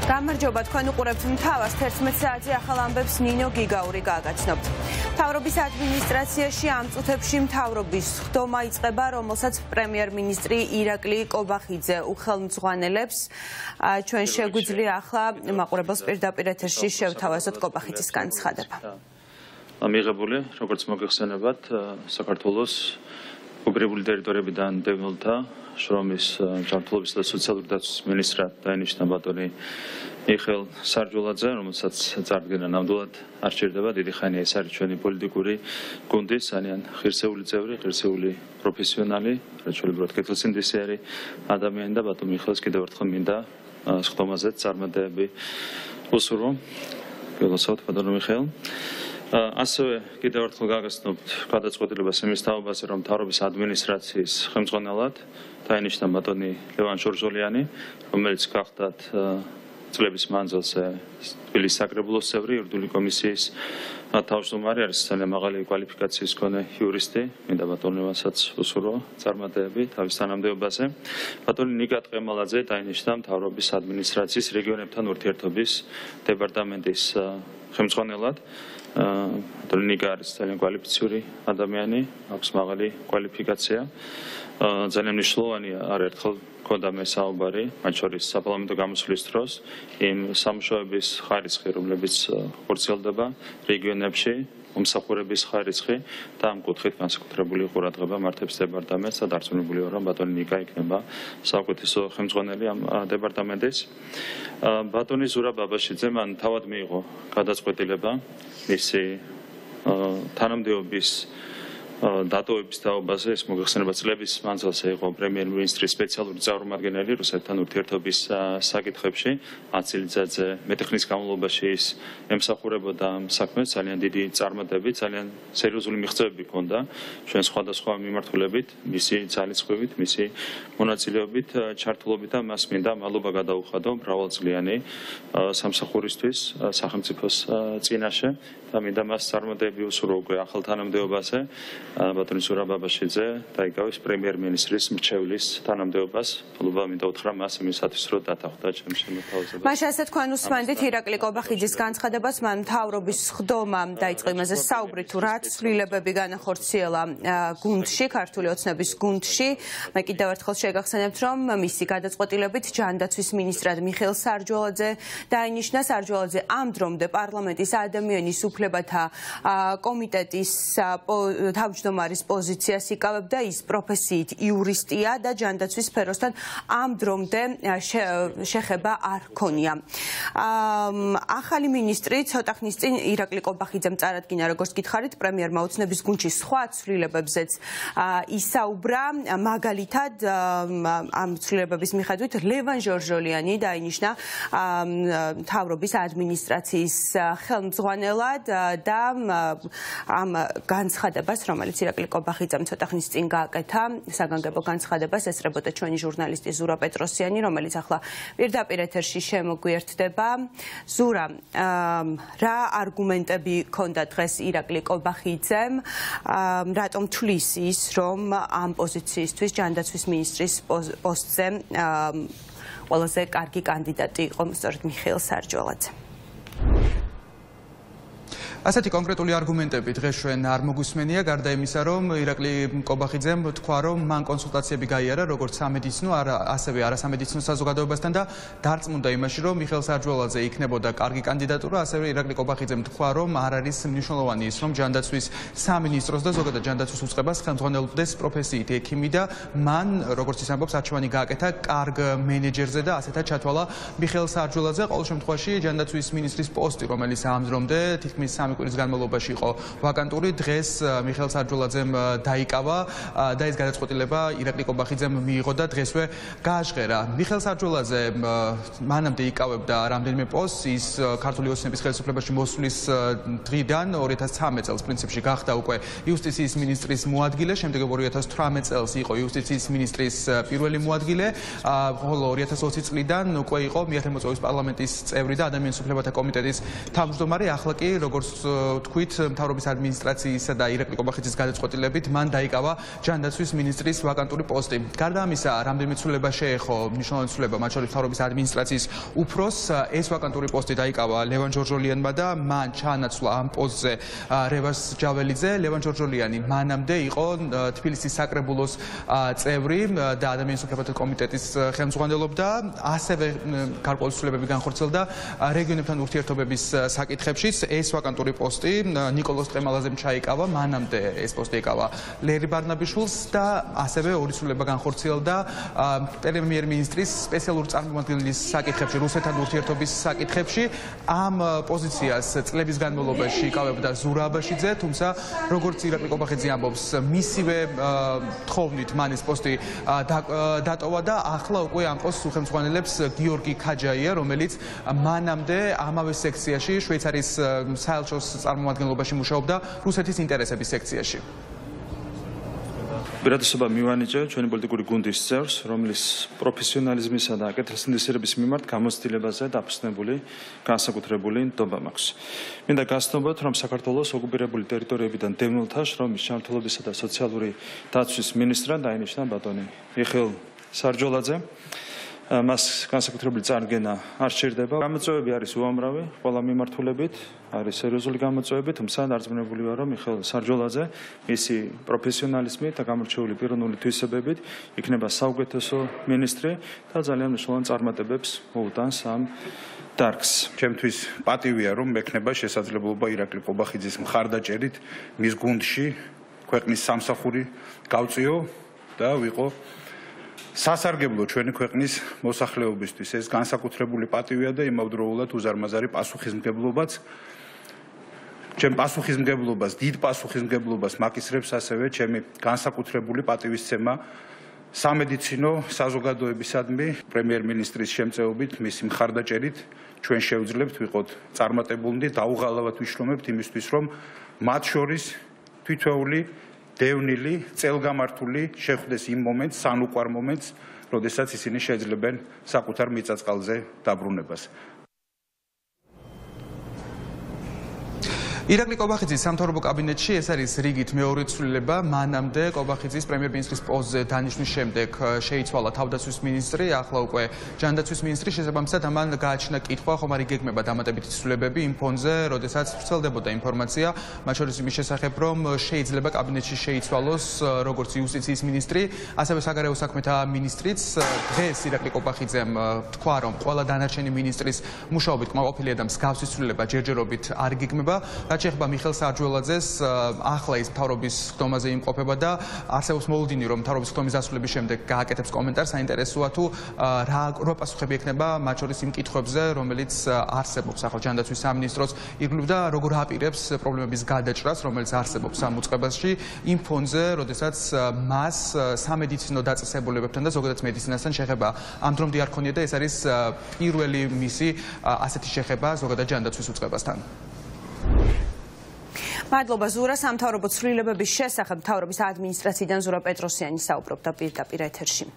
გამარჯობა, თქვენ უყურებთ მთავარს 11 საათზე ახალ ამბებს ნინო გიგაური გააგაცნობთ. მთავრობის ადმინისტრაციაში ამ წუთებში მთავრობის ხდომა იწყება, რომელსაც პრემიერ-მინისტრი ირაკლი კობახიძე უხელმძღვანელებს. ჩვენ შეგვიძლია ახლა მაყურებელს პირდაპირ ეთერში შევთავაზოთ კობახიძის განცხადება. მიღებული, როგორც მოგეხსენებათ, საქართველოს უბერებული ტერიტორიებიდან დევნილთა შრომის ჯანმრთელობის და სოციალური დაცვის მინისტრად დაინიშნა ბატონი მიხეილ სარჯულაძე, რომელსაც წარდგენა ნამდვილად არ სჭირდება. დიდი ხანია ეს არის ჩვენი პოლიტიკური გუნდის ძალიან ღირსეული წევრი, ღირსეული პროფესიონალი, რაჩვეულებრივად კეთილსინდისიერი ადამიანი და ბატონ მიხეილს კიდევ ერთხელ მინდა სხდომაზე წარმატებები უსურვო. გელოსავთ ბატონ მიხეილ. ასევე კიდევ ერთხელ გაგაცნობთ გადაწყვეტილებას იმის თაობაზე, რომ მთავრობის ადმინისტრაციის ხელმძღვანელად დაინიშნა ბატონი ლევან ჟორჟოლიანი, რომელიც გახდათ წლების მანძილზე თბილისის საკრებულოს წევრი, იურიდიული კომისიის თავმჯდომარე, არის ძალიან მაღალი კვალიფიკაციის მქონე იურისტი. მინდა ბატონ ლევანსაც უსურვო წარმატებები თავის თანამდებობაზე. ბატონი ნიკა ტყემალაძე დაინიშნა მთავრობის ადმინისტრაციის რეგიონებთან ურთიერთობის დეპარტამენტის ხელმძღვანელად. ნიკა არის ძალიან კვალიფიციური ადამიანი, აქვს მაღალი კვალიფიკაცია. ძალიან მნიშვნელოვანია არაერთხელ გქონდა მე საუბარი, მათ შორის საპარლამენტო გამოსვლის დროს, იმ სამუშაოების ხარისხი, რომლებიც ხორციელდება რეგიონებში, მომსახურების ხარისხი და ამ კუთხით განსაკუთრებული ყურადღება მართებს დეპარტამენტს და დარწმუნებული ვარ, რომ ბატონი ნიკა იქნება საუკეთესო ხელმძღვანელი ამ დეპარტამენტის. ბატონი ზურა ბაბაშიძე მან თავად მიიღო გადაწყვეტილება მისი თანამდებობის დატოვების თაობაზე. ეს მოგეხსენება წლების მანძილზე იყო პრემიერ-მინისტრის სპეციალური წარმომადგენელი რუსეთთან ურთიერთობის საკითხებში. 10 წელიწადზე მეტეხნის განმავლობაში ის ემსახურებოდა ამ საქმეს, ძალიან დიდი წარმატებით, ძალიან სერიოზული მიღწევები ჰქონდა ჩვენ სხვადასხვა მიმართულებით, მისი ძალისხმევით, მისი მონაწილეობით, ჩართულობით და მას მინდა მადლობა გადაუხადო მრავალწლიანი სამსახურისთვის სახელმწიფოს წინაშე და მინდა მას წარმატებები უსურვო უკვე ახალ თანამდებობაზე. ბატონი ზურა ბაბაშიძე დაიკავის პრემიერ-მინისტრის მრჩევლის თანამდებობას. მადლობა მინდა უთხრა მას იმისათვის, რომ დათანხმდა ჩემს შემოთავაზებას. მაშინ ასე თქვენ უსმენდით ირაკლი კობახიძის განცხადებას, მან მთავრობის ხდომა დაიწყო იმაზე საუბრი, თუ რა ცვლილებები განახორციელა გუნდში, ქართული ოცნების გუნდში. მე კიდევ ერთხელ შეგახსენებთ, რომ მისი გადაწყვეტილებით ჯანდაცვის მინისტრად მიხეილ სარჯულაძე დაინიშნა. სარჯულაძე ამ დრომდე პარლამენტის ადამიანის უფლებათა კომიტეტის თავმჯდომარის პოზიციას იკავებდა. ის პროფესიით იურისტია და ჯანდაცვის სფეროსთან ამ დრომდე შეხება არ ჰქონია. ახალი მინისტრი ცოტა ხნის წინ ირაკლი კობახიძემ წარადგინა, როგორც გითხარით, პრემიერმა ოცნების გუნდში სხვა ცვლილებებზეც ისაუბრა. მაგალითად, ამ ცვლილებების მიხედვით ლევან ჟორჟოლიანი დაინიშნა მთავრობის ადმინისტრაციის ხელმძღვანელად და ამ განცხადებას, რომელიც ირაკლი კობახიძემ ცოტა ხნის წინ გააკეთა, საგანგებო განცხადებას ესწრებოდა ჩვენი ჟურნალისტი ზურა პეტროსიანი, რომელიც ახლა პირდაპირ ეთერში შემოგვიერთდება. ზურა, რა არგუმენტები ჰქონდა დღეს ირაკლი კობახიძემ, რატომ თვლის ის, რომ ამ პოზიციისთვის ჯანდაცვის მინისტრის პოსტზე ყველაზე კარგი კანდიდატი იყო სწორედ მიხეილ სარჯულაძე? ასეთი კონკრეტული არგუმენტები დღეს ჩვენ არ მოგვისმენია, გარდა იმისა, რომ ირაკლი კობახიძემ თქვა, რომ მან კონსულტაციები გაიარა როგორც სამედიცინო, ასევე არასამედიცინო საზოგადოებასთან და დარწმუნდა იმაში, რომ მიხეილ სარჯულაძე იქნებოდა კარგი კანდიდატურა. ასევე ირაკლი კობახიძემ თქვა, რომ არ არის მნიშვნელოვანი ის, რომ ჯანდაცვის სამინისტროს და ზოგადად ჯანდაცვის უწყებას ხელმძღვანელობდეს პროფესიით ექიმი და მან, როგორც ის ამბობს, არჩევანი გააკეთა კარგ მენეჯერზე და ასეთად ჩათვალა მიხეილ სარჯულაძე. ყოველ შემთხვევაში ჯანდაცვის მინისტრის პოსტი, რომელიც ამ დრომდე თითქმის 3 კვირის განმავლობაში იყო ვაკანტური, დღეს მიხეილ სარჯულაძემ დაიკავა და ეს გადაწყვეტილება ირაკლი კობახიძემ მიიღო და დღესვე გააჟღერა. მიხეილ სარჯულაძე მანამდე იკავებდა რამდენიმე პოსტს, ის ქართული ოცნების ხელისუფლებაში მოსვლის დღიდან 2013 წელს პრინციპში გახდა უკვე იუსტიციის მინისტრის მოადგილე, შემდეგ 2018 წელს იყო იუსტიციის მინისტრის პირველი მოადგილე, ხოლო 2020 წლიდან უკვე იყო მიათმოწვევის პარლამენტის წევრი და ადამიანის უფლებათა კომიტეტის თავმჯდომარე. ახლა კი როგორც თქვით, მთავრობის ადმინისტრაციისა და ირაკლი კობახიძის გადაწყვეტილებით მან დაიკავა ჯანდაცვის მინისტრის ვაკანტური პოსტი. გარდა ამისა, რამდენიმე ცვლილება შეეხო მნიშვნელოვანი ცვლილება, მათ შორის მთავრობის ადმინისტრაციის უფროს ეს ვაკანტური პოსტი დაიკავა ლევან ჯორჯოლიანმა და მან ჩაანაცვლა ამ პოსტზე რევაზ ჯაველიძე. ლევან ჯორჯოლიანი მანამდე იყო თბილისის საკრებულოს წევრი და ადამიანის უფლებათა კომიტეტის ხელმძღვანელობდა. ასევე გარკვეული ცვლილებები განხორციელდა რეგიონებთან ურთიერთობების საკითხებშიც. ეს ვაკანტური პოსტი ნიკოლოზ ტყემალაძემ ჩაიკავა, მანამდე ეს პოსტი ეკავა ლერი ბარნაბიშვილს და ასევე ორი ცვლილება განხორციელდა პრემიერ-მინისტრის სპეციალური წარმომადგენლის საკითხებში, რუსეთთან ურთიერთობის საკითხებში. ამ პოზიციას წლების განმავლობაში იკავებდა ზურაბ აბაშიძე, თუმცა როგორც ირაკლი კობახიძე ამბობს, მისივე თხოვნით მან ეს პოსტი დატოვა და ახლა უკვე ამ პოსტს უხელმძღვანელებს გიორგი ქაჯაია, რომელიც მანამდე ამავე სექციაში შვეიცარიის საელჩოს წარმომადგენლობაში მუშაობდა რუსეთის ინტერესების სექციაში. Პირადოსობა მივანიჭე ჩვენი პოლიტიკური გუნდის წევრს, რომლის პროფესიონალიზმისა და კეთილსინდისიერების მიმართ გამოცდილებაზე დაფუძნებული განსაკუთრებული ნდობა მაქვს. მინდა გაცნობოთ, რომ საქართველოს ოკუპირებული ტერიტორიებიდან დევნილთა შრომის ჩართულობისა და სოციალური დაცვის მინისტრად დაინიშნა ბატონი მიხეილ სარჯოლაძე. მას განსაკუთრებული წარდგენა არ სჭირდება. გამოწვევები არის უამრავი, ყველა მიმართულებით არის სერიოზული გამოწვევები, თუმცა დარწმუნებული ვარ, რომ მიხეილ სარჯოლაძე მისი პროფესიონალიზმით და გამორჩეული პიროვნული თვისებებით იქნება საუკეთესო მინისტრი და ძალიან მნიშვნელოვან წარმატებებს მოუტანს ამ დარგს. ჩემთვის პატივია, რომ მექნება შესაძლებლობა ირაკლი კობახიძის მხარდაჭერით მის გუნდში ქვეყნის სამსახური გავწიო და ვიყო სასარგებლო ჩვენი ქვეყნის მოსახლეობისთვის. ეს განსაკუთრებული პატივია და იმავდროულად უზარმაზარი პასუხისმგებლობაც. ჩემ პასუხისმგებლობას, დიდ პასუხისმგებლობას მაკისრებს ასევე ჩემი განსაკუთრებული პატივისცემა სამედიცინო საზოგადოებისადმი პრემიერ-მინისტრის შემწეობით, მისი მხარდაჭერით ჩვენ შევძლებთ ვიყოთ წარმატებულნი, დაუღალავად ვიშრომებთ იმისთვის, რომ მათ შორის თითოეული დევნილი, წელგამართული შეხვდეს იმ მომენტს, სანუკვარ მომენტს, როდესაც ისინი შეძლებენ საკუთარ მიწა-წყალზე დაბრუნებას. ირაკლი კობახიძის სამთავრობო კაბინეტში ეს არის რიგით მეორე ცვლილება. მანამდე კობახიძის პრემიერ-მინისტრის პოსტზე დანიშნვის შემდეგ შეიცვალა თავდაცვის მინისტრი, ახლა უკვე ჯანდაცვის მინისტრი. შესაბამისად, ამან გააჩნდა კითხვა, ხომ არ იგეგმება დამატებითი ცვლილებები იმ ფონზე, როდესაც ვრცელდებოდა ინფორმაცია, მათ შორის იმის შესახებ, რომ შეიძლება კაბინეტში შეიცვალოს როგორც იუსტიციის მინისტრი, ასევე საგარეო საქმეთა მინისტრიც. დღეს ირაკლი კობახიძემ თქვა, რომ ყველა დანარჩენი მინისტრის მუშაობით კმაყოფილია და მსგავსი ცვლილება ჯერჯერობით არ იგეგმება. რაც შეეხება მიხეილ სარჯოლაძეს, ახლა ის მთავრობის ხდომაზე იმყოფება და არსებობს მოლოდინი, რომ მთავრობის ხდომის დასრულების შემდეგ გააკეთებს კომენტარს. საინტერესოა თუ რა პასუხები ექნება მათ შორის იმ კითხვებზე, რომელიც არსებობს ახლა ჯანდაცვის სამინისტროს ირგვლივ და როგორ აპირებს პრობლემების გადაჭრას, რომელიც არსებობს ამ უწყებაში იმ ფონზე, როდესაც მას სამედიცინო დაწესებულებებთან და ზოგადად მედიცინასთან შეხება ამ დრომდე არ ქონია და ეს არის პირველი მისი ასეთი შეხება ზოგადად ჯანდაცვის უწყებასთან. მადლობა ზურა. სამთავრობო ცვლილებების შესახებ მთავრობის ადმინისტრაციიდან ზურა პეტროსიანი საუბრობდა პირდაპირ ეთერში.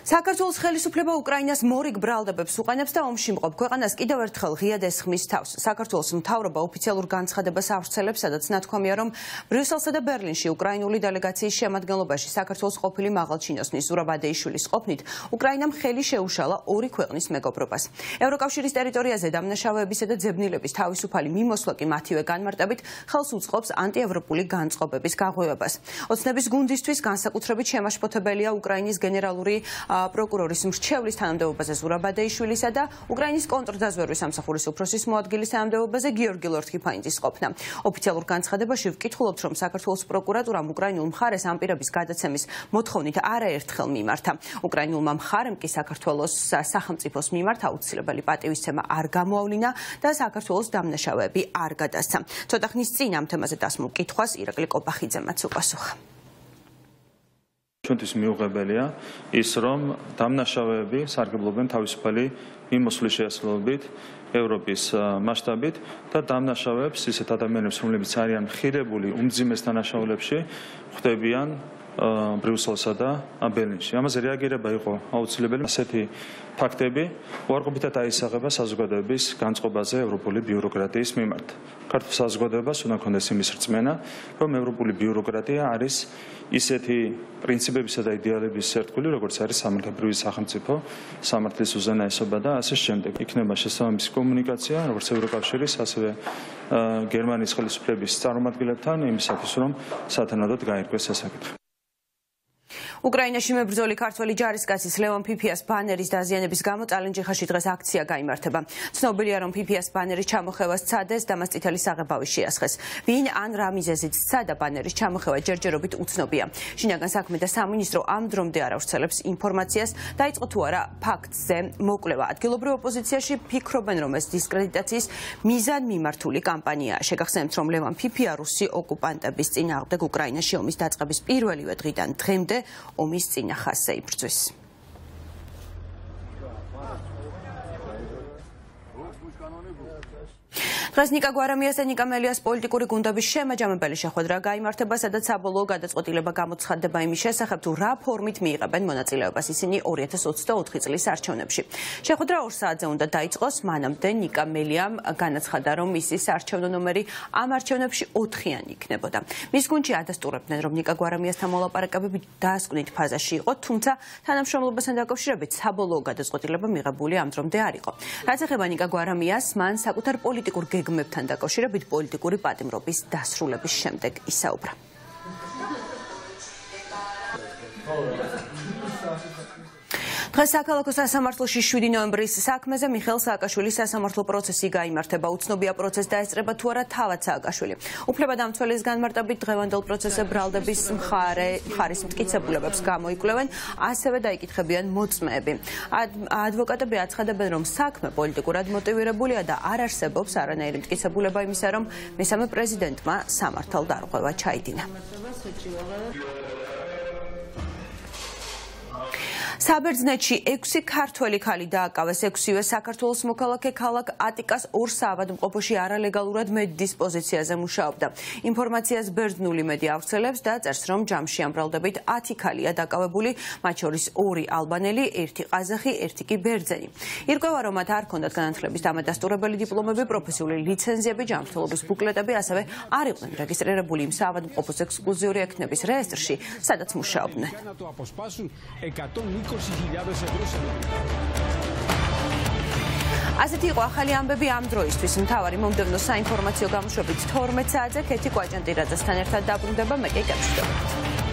საქართველოს ხელისუფლება უკრაინას მორიგ ბრალდებებს უყენებს და ომში მყოფ ქვეყანას კიდევ ერთხელ ღიად ესხმის თავს. საქართველოს მთავრობა ოფიციალურ განცხადებას ავრცელებს, სადაც ნათქვამია, რომ ბრიუსელსა და ბერლინში უკრაინული დელეგაციის შემადგენლობაში საქართველოს ყოფილი მაღალჩინოსნის ზურაბ ადეიშვილის ყოფნით უკრაინამ ხელი შეუშალა ორი ქვეყნის მეგობრობას. ევროკავშირის ტერიტორიაზე დამნაშავეებისა და ძებნილების თავისუფალი მიმოსვლა კი მათივე განმარტებით ხელს უწყობს ანტიევროპული განწყობების გაღვივებას. ოცნების გუნდისთვის განსაკუთრებით შემაშფოთებელია უკრაინის გენერალური პროკურორის მრჩევლის თანამდებობაზე ზურაბ ადეიშვილისა და უკრაინის კონტრდაზვერვის სამსახურის უფროსის მოადგილის თანამდებობაზე გიორგი ლორთქიფანიძის ყოფნა. ოფიციალურ განცხადებაში ვკითხულობთ, რომ საქართველოს პროკურატურამ უკრაინულ მხარეს ამ პირების გადაცემის მოთხოვნით არაერთხელ მიმართა. უკრაინულმა მხარემ კი საქართველოს სახელმწიფოს მიმართ აუცილებელი პატივისცემა არ გამოავლინა და საქართველოს დამნაშავეები არ გადასცა. ცოტა ხნის წინ ამ თემაზე დასმულ კითხვას ირაკლი კობახიძემაც უპასუხა. ჩვენთვის მიუღებელია ის, რომ დამნაშავეები სარგებლობენ თავისუფალი მიმოსვლის შესაძლებლობით ევროპის მასშტაბით და დამნაშავეებს ისეთ ადამიანებს, რომლებიც არიან ხირებული უმძიმეს დანაშაულებში, ხვდებიან ბრიუსელსა და ბერლინში. ამაზე რეაგირება იყო აუცილებელი. ასეთი ფაქტები უარყოფითად აისაღება საზოგადოების განწყობაზე ევროპული ბიუროკრატიის მიმართ. ქართულ საზოგადოებას უნდა ჰქონდეს იმის რწმენა, რომ ევროპული ბიუროკრატია არის ისეთი პრინციპებისა და იდეალების ერთგული, როგორც არის სამართლებრივი სახელმწიფო, სამართლის უზენაესობა და ასე შემდეგ. იქნება შესაბამისი კომუნიკაცია, როგორც ევროკავშირის, ასევე გერმანიის ხელისუფლების წარმომადგენლებთან იმისათვის, რომ სათანადოდ გაირკვეს ეს საკითხი. უკრაინაში მებრძოლი ქართველი ჯარისკაცის ლევან ფიფიას ბანერის დაზიანების გამო წალენჯიხაში დღეს აქცია გაიმართება. ცნობილია, რომ ფიფიას ბანერის ჩამოხევა სცადეს და მას წითელი საღებავი შეასხეს. ვინ ან რა მიზეზით სცადა ბანერის ჩამოხევა ჯერჯერობით უცნობია. შინაგან საქმეთა სამინისტრო ამ დრომდე არ ავრცელებს ინფორმაციას, დაიწყო თუ არა ფაქტზე მოკვლევა. ადგილობრივ ოპოზიციაში ფიქრობენ, რომ ეს დისკრედიტაციის მიზანმიმართული კამპანიაა. შეგახსენებთ, რომ ლევან ფიფია რუსი ოკუპანტების წინააღმდეგ უკრაინაში ომის დაწყების პირველივე დღიდან დღემდე ომის წინა ხაზზე იბრძვის. დღეს ნიკა გვარამიას და ნიკა მელიას პოლიტიკური გუნდების შემაჯამებელი შეხვედრა გაიმართება, სადაც საბოლოო გადაწყვეტილება გამოცხადდება იმის შესახებ, თუ რა ფორმით მიიღებენ მონაწილეობას ისინი 2024 წლის არჩევნებში. შეხვედრა 2 საათზე უნდა დაიწყოს, მანამდე ნიკა მელიამ განაცხადა, რომ მისი საარჩევნო ნომერი ამ არჩევნებში 4-იანი იქნებოდა. მის გუნდში ადასტურებდნენ, რომ ნიკა გვარამიასთან მოლაპარაკებები დასკვნით ფაზაში იყო, თუმცა თანამშრომლობასთან დაკავშირებით საბოლოო გადაწყვეტილება მიღებული ამ დრომდე არ იყო. რაც ეხება ნიკა გვარამიას, მან საკუთარ პოლიტიკურ გეგმებთან დაკავშირებით პოლიტიკური პატიმრობის დასრულების შემდეგ ისაუბრა. დღეს საქალაქო სასამართლოში 7 ნოემბრის საქმეზე მიხეილ სააკაშვილის სასამართლო პროცესი გაიმართება. უცნობია პროცესს დაესწრება თუ არა თავად სააკაშვილი. უფლებადამცველის განმარტებით დღევანდელ პროცესზე ბრალდების მხარის მტკიცებულებებს გამოიკვლევენ, ასევე დაიკითხებიან მოწმეები. ადვოკატები აცხადებენ, რომ საქმე პოლიტიკურად მოტივირებულია და არ არსებობს არანაირი მტკიცებულება იმისა, რომ მესამე პრეზიდენტმა სამართალდარღვევა ჩაიდინა. საბერძნეთში 6 ქართველი ქალი დააკავეს, 6-ვე საქართველოს მოქალაქე ქალაქ ატიკას 2 საავადმყოფოში არალეგალურად მედიის პოზიციაზე მუშაობდა. ინფორმაციას ბერძნული მედია ავრცელებს და წერს, რომ ჯამში ამ ბრალდებით 10 ქალია დაკავებული, მათ შორის 2 ალბანელი, 1 ყაზახი, 1 კი ბერძენი. ირკვევა, რომ მათ არ ჰქონდათ განათლების დამადასტურებელი დიპლომები, პროფესიული ლიცენზიები, ჯანმრთელობის ბუკლეტები, ასევე არ იყვნენ რეგისტრირებული იმ საავადმყოფოს ექსკლუზიური ექნების რეესტრში, სადაც მუშაობდნენ. ასეთი იყო ახალი ამბები ამ დროისთვის. მთავარი მომდევნო საინფორმაციო გამოშვებით 12 საათზე ქეთი კვაჭანტირაძესთან ერთად დაბრუნდება, მე კი გაგშვიდობთ.